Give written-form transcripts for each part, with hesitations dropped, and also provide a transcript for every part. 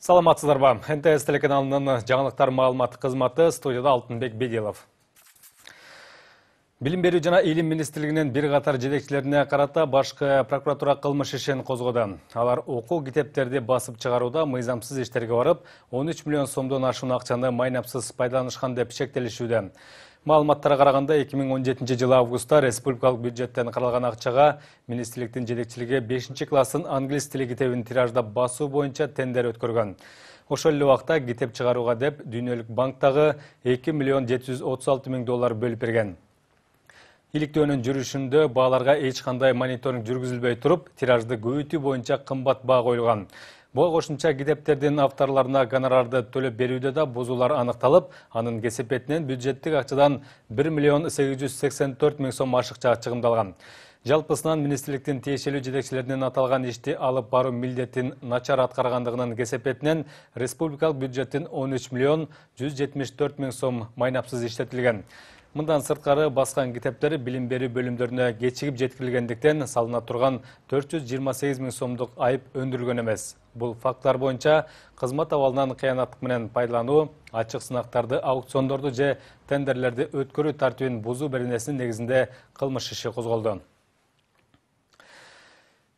Саламатсыздарбы? НТС телеканалынын жаңылыктар маалымат кызматы, студияда Алтынбек Бедилов. Билим берүү жана илим министрлигинин бир катар жетекчилерине карата башкы прокуратура кылмыш ишин козгоду. Алар окуу китептерди басып чыгарууда мыйзамсыз иштерге барып, 13 миллион сомдон ашуун акчаны майнапсыз пайдаланышкан деп шектелишүүдө. Маалыматтарга караганда 2017 жылы августта республикалык бюджеттен каралган акчага министрликтин жетекчилиги 5-классын англис тили китебин тираждап басуу боюнча тендер өткөргөн. Ошол эле убакта китеп чыгарууга деп Дүйнөлүк банктагы 2 миллион 736 миң доллар бөлүп берген. Иликтөөнүн жүрүшүндө бааларга эч кандай мониторинг жүргүзүлбөй туруп, тиражды көбөйтүү боюнча кымбат баа коюлган. Буга кошумча китептердин авторлоруна гонорарды төлөп берүүдө да бузуулар аныкталып, анын кесепетинен бюджеттик акчадан 1 миллион 884 миң сом ашыкча чыгымдалган. Жалпысынан министрликтин тиешелүү жетекчилеринин аталган ишти алып баруу милдетин начар аткаргандыгынын кесепетинен республикалык бюджеттин 13 миллион 174 миң сом майнапсыз иштетилген. Мындан сырткары баскан китептер билим берүү бөлүмдөрүнө кечигип жеткирилгендиктен салына турган 428 миң сомдук айып өндүрүлгөн эмес. Бул факттар боюнча кызмат абалынан кыянаттык менен пайдалануу, ачык сынактарды, аукциондорду же тендерлерди өткөрүү тартибин бузуу беренесинин негизинде кылмыш иши козголду.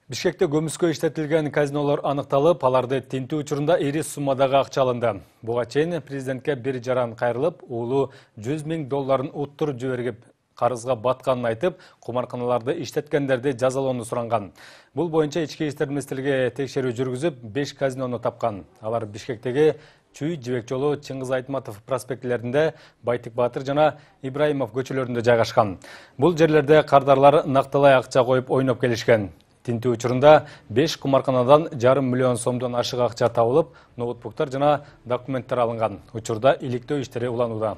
Бишкекте көмүскө иштетилген казинолор аныкталып, аларды тинтүү учурунда ири суммадагы акча алынды. Буга чейин президентке бир жаран кайрылып, уулу 100 миң долларын уттуруп жиберип, карызга батканын айтып, кумарканаларды иштеткендерди жазалоону суранган. Бул боюнча Ички иштер министрлиги текшерүү жүргүзүп, 5 казинону тапкан. Алар Бишкектеги Чүй, Жибек жолу, Чыңгыз Айтматов проспектилеринде, Байтик Батыр жана Ибраимов көчөлөрүндө жайгашкан. Бул жерлерде кардарлар накталай акча коюп ойноп келишкен. Тинтүү учурунда 5 кумарканадан 1,5 миллион сомдон ашык акча табылып, ноутбуктар жана документтер алынган. Учурда иликтөө иштери уланууда.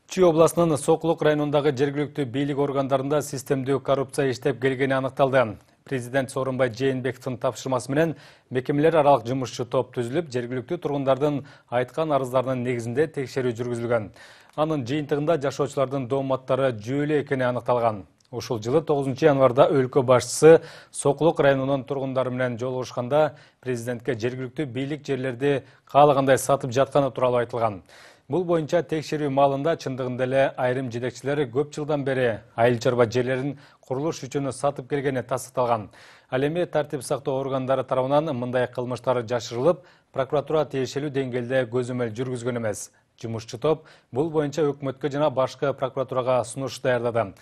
Чүй областынын Сокулук районундагы жергиликтүү бийлик органдарында системдүү коррупция иштеп келгени аныкталды. Президент Сооронбай Жээнбековдун тапшырмасы менен мекемелер аралык жумушчу топ түзүлүп, жергиликтүү тургундардын айткан арыздарынын негизинде текшерүү жүргүзүлгөн. Анын жыйынтыгында жашоочулардын дооматтары жүйөлүү экени аныкталган. Ушул жылы 9 январда өлкө башчысы Сокулук районунун тургундары менен жолугушканда президентке жергиликтүү бийлик жерлерди каалагандай сатып жатканы тууралуу айтылган. Бул боюнча текшерүү маалында чындыгында эле айрым жетекчилер көп жылдан бери айыл чарба жерлерин курулуш үчүн сатып келгени тастыкталган. Ал эми тартип сактоо органдары тарабынан мындай кылмыштар жашырылып, прокуратура тиешелүү деңгээлде көзөмөл жүргүзгөн эмес. Жумушчу топ бул боюнча өкмөткө жана башкы прокуратурага сунуш даярдады.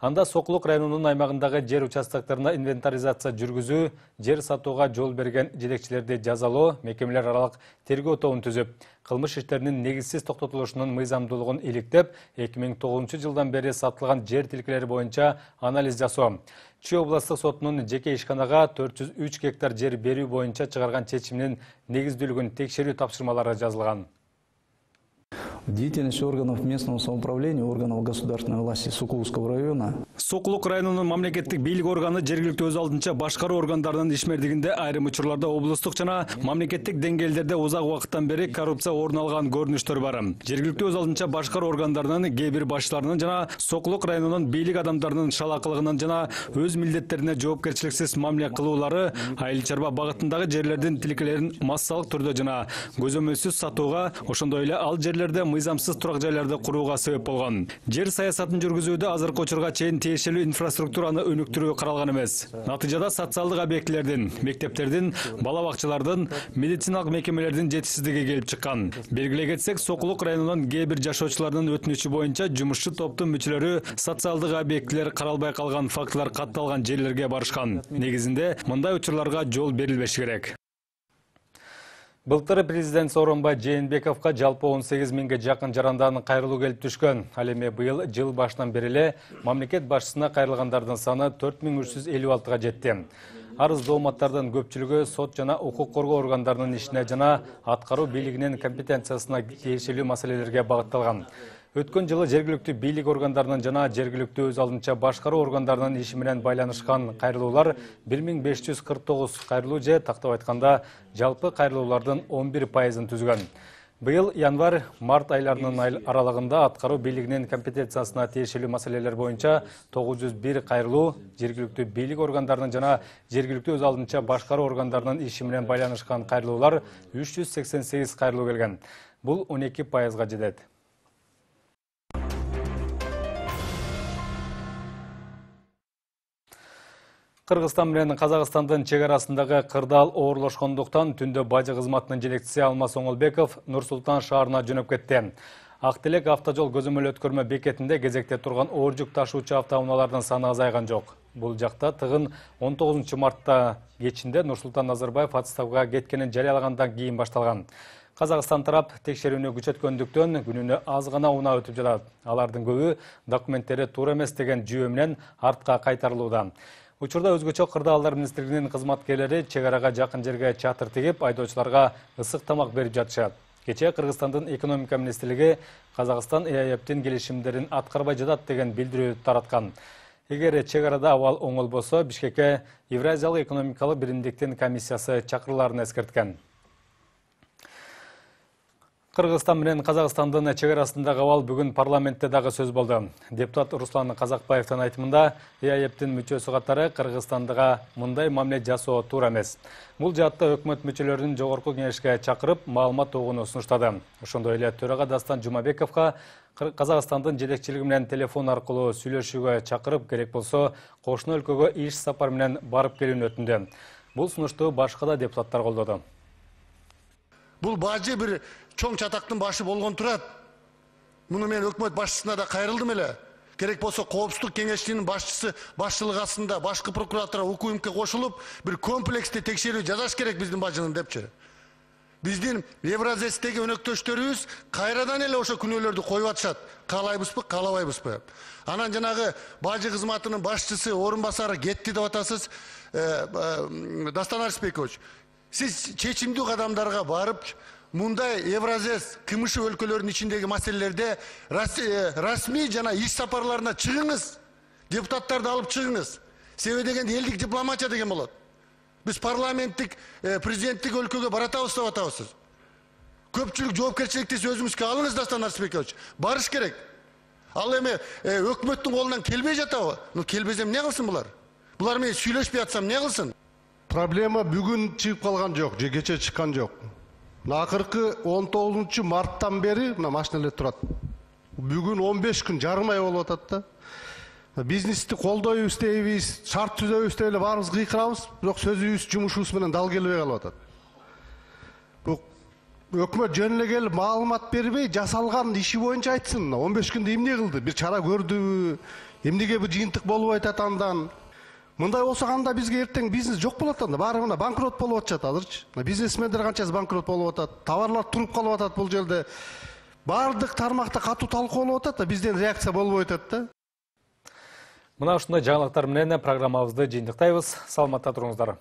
Анда Сокулук районунун аймагындагы жер участоктарына инвентаризация жүргүзүү, жер сатууга жол берген жетекчилерди жазалоо, мекемелер аралык тергөө тобун түзүп, кылмыш иштеринин негизсиз токтотулушунун мыйзамдуулугун иликтеп, 2009 жылдан бери сатылган жер тилкелери боюнча анализ жасоо. Чүй областык сотунун жеке ишканага 403 гектар жер берүү боюнча чыгарган чечиминин негиздүүлүгүн текшерүү тапшырмалары жазылган. Деятельность органов местного самоуправления, органов государственной власти Сокулукского района. Сокулук районунун мамлекеттик бийлик органы жергиликтүү өз алдынча башкаруу органдарынын ишмердигинде айрым учурларда облустук жана мамлекеттик деңгээлдерде узак убакыттан бери коррупция орун алган көрүнүштөр бар. Жергиликтүү өз алдынча башкаруу органдарынын кээ бир башчыларынын жана Сокулук районунун бийлик адамдарынын шалакылыгынын жана өз милдеттерине жоопкерчиликсиз мамиле кылуулары айыл чарба багытындагы жерлердин тилкелерин массалык түрдө жана көзөмөлсүз сатууга, ошондой эле ал жерлерде мыйзамсыз турак жайларды курууга себеп болгон. Жер саясатын жүргүзүүдө азыркы учурга чейин тиешелүү инфраструктураны өнүктүрүү каралган эмес. Натыйжада социалдык объектилердин, мектептердин, бала бакчалардын, медициналык мекемелердин жетишсиздиги келип чыккан. Белгилей кетсек, Сокулук районунун кээ бир жашоочуларынын өтүнүчү боюнча жумушчу топтун мүчөлөрү социалдык объектилер каралбай калган фактылар катталган жерлерге барышкан. Негизинде мындай учурларга жол берилбеши керек. Былтыр президент Сооронбай Жээнбековго жалпы 18 миңге жакын жарандан кайрылуу келип түшкөн. Ал эми быйыл жыл башынан бери эле мамлекет башчысына кайрылгандардын саны 4356-га жетти. Арыз дооматтардын көпчүлүгү сот жана укук коргоо органдарынын ишине жана аткаруу бийлигинин компетенциясына тиешелүү маселелерге багытталган. Өткөн жылы жергиликтүү бийлик органдарынын жана жергиликтүү өз алдынча башкаруу органдарынын иши менен байланышкан кайрылуулар 1549 кайрылуу же тактап айтканда жалпы кайрылуулардын 11%-ын түзгөн. Быйыл январь-март айларынын аралыгында аткаруу бийлигинин компетенциясына тиешелүү маселелер боюнча 901 кайрылуу жергиликтүү бийлик органдарынын жана жергиликтүү өз алдынча башкаруу органдарынын иши менен байланышкан кайрылуулар 388 кайрылуу келген. Бул 12%га жетет. Кыргызстан менен Казакстандын чек арасындагы кырдаал оорлошкондуктан түндө бажы кызматынын жетекчиси Алмаз Оңолбеков Нур-Султан шаарына жөнөп кетти. Ак-Телек автожол көзөмөл өткөрмө бекетинде кезекте турган оор жүк ташуучу автоунаалардын саны азайган жок. Бул жакта тыгын 19 мартта кечинде Нурсултан Назарбаев отставкага кеткенин жарыялагандан кийин башталган. Казакстан тарап текшерүүнү күчөткөндүктөн күнүнө аз гана унаа өтүп жатат. Алардын көбү документтери туура эмес деген жүйө менен артка кайтарылууда. Учурда өзгөчө кырдаалдар министрлигинин кызматкерлери чек арага жакын жерге чатыр тигип, айдоочуларга ысык тамак берип жатышат. Кечээ Кыргызстандын экономика министрлиги Казакстан ЭАЭПтин келишимдерин аткарбай жатат деген билдирүү тараткан. Эгер чек арада абал оңолбосо, Бишкекке Евразиялык экономикалык биримдиктин комиссиясы чакырыларын эскерткен. Кыргызстан менен Казакстандын чек арасындагы абал бүгүн парламентте дагы сөз болду. Депутат Руслан Казакбаевдин айтымында, ЭАЭПтин мүчөсү катары Кыргызстандыга мындай мамиле жасоо туура эмес. Бул жаатта өкмөт мүчөлөрүн жогорку кеңешке чакырып, маалымат тогууну сунуштады. Ошондой эле төрага Дастан Жумабековго Казакстандын жетекчилиги менен телефон аркылуу сүйлөшүүгө чакырып, керек болсо кошуна өлкөгө иш сапар менен барып келүүнү өтүндү. Бул сунушту башка да депутаттар колдоду. Бул бажы бир чоң чатактын башы болгон турат. Муну мен өкмөт башчысына да кайрылдым эле. Керек болсо Коопсуздук кеңешчисинин башчысы башчылыгы астында башкы прокуратура УКМК кошулуп, бир комплекстүү текшерүү жасаш керек биздин бажынын депчи. Биздин Евразестеги өнөктөштөрүбүз кайрадан эле ошо күнөөлөрдү коюп атышат. Каалайбызбы, каалабайбызбы? Анан жанагы бажы кызматынын башчысы орун басары кетти деп атасыз, Дастан Арыспекович. Сиз чечимдүү кадамдарга барып, мындай Евразес КМШ өлкөлөрүнүн ичиндеги маселелерде расмий жана иш сапарларына чыгыңыз. Депутаттарды алып чыгыңыз. Себеби дегенде элдик дипломатия деген болот. Биз парламенттик, президенттик өлкөгө баратабыз деп атабыз. Көпчүлүк жоопкерчиликти өзүңүзгө алыңыз, Дастан Арыспекович. Барыш керек. Ал эми өкмөттүн колунан келбей жатабы? Келбесем эмне кылсын булар? Булар менен сүйлөшпөй атсам эмне кылсын? Проблема бүгүн чыгып калган жок, же кече чыккан жок. Акыркы 19 марттан бери мына машиналар турат. Бүгүн 15 күн, жарым ай болуп атат да. Бизнести колдойбуз дейбиз, шарт түзөбүз деп эле баарыбыз кыйкырабыз, бирок сөзүбүз, жумушубуз менен дал келбей калып атат. Өкмөт жөн эле келип маалымат бербей, жасалган иши боюнча айтсын. 15 күндө эмне кылды? Бир чара көрдүбү? Эмнеге бир жыйынтык болуп атат андан? Мындай болсо кандай бизге эртең бизнес жок болот анда, баары мына банкрот болуп атышат азырчы. Бизнесмендер канчасы банкрот болуп атат, товарлар туруп калып атат бул жерде. Бардык тармакта катуу талкуу болуп атат да, бизден реакция болбой атат да. Мына ушундай жаңылыктар менен программабызды жыйынтыктайбыз. Саламатта туруңуздар.